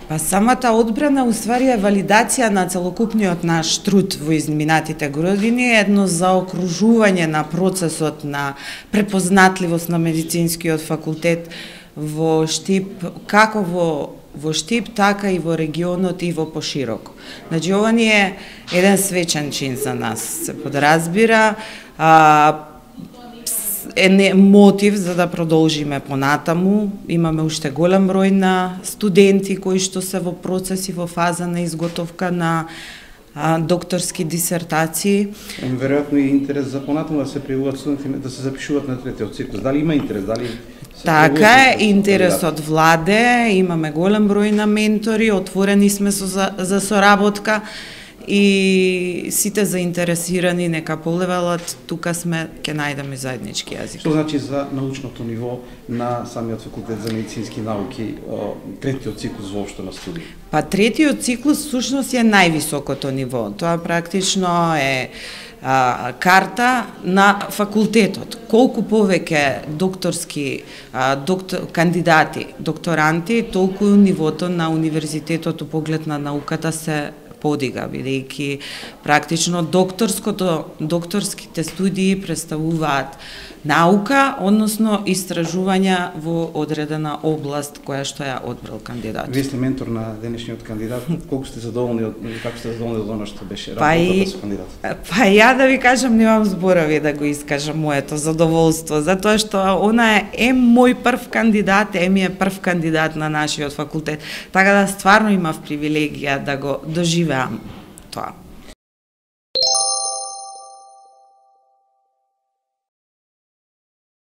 Па самата одбрана уствари е валидација на целокупниот наш труд во изминатите години, едно заокружување на процесот на препознатливост на медицинскиот факултет во Штип, како во Штип, така и во регионот и во пошироко. Значи, ова ни е еден свечен чин за нас, се подразбира, е мотив за да продолжиме понатаму. Имаме уште голем број на студенти кои што се во процес и во фаза на изготовка на докторски дисертации. Веројатно и интерес за понатаму да се пријавуваат студенти да се запишуваат на третиот циклус. Дали има интерес? Дали така е, интересот владе, имаме голем број на ментори, отворени сме за соработка и сите заинтересирани нека полевалат, тука сме, ќе најдеме заеднички јазик. Што значи за научното ниво на самиот факултет за медицински науки, третиот циклус воопшто на студии? Па третиот циклус всушност е највисокото ниво. Тоа практично е карта на факултетот. Колку повеќе докторски кандидати, докторанти, толку нивото на универзитетот у поглед на науката се подига, бидејќи практично докторските студии представуваат наука, односно истражувања во одредена област која што ја одбрал кандидат. Вие сте ментор на денешниот кандидат. Колку сте задоволни од како сте задоволни од она што беше работата со кандидатот? Па ја да ви кажам, немам зборови да го искажам моето задоволство, затоа што она е мој прв кандидат, ми е прв кандидат на нашиот факултет. Така да стварно имав привилегија да го доживеам тоа.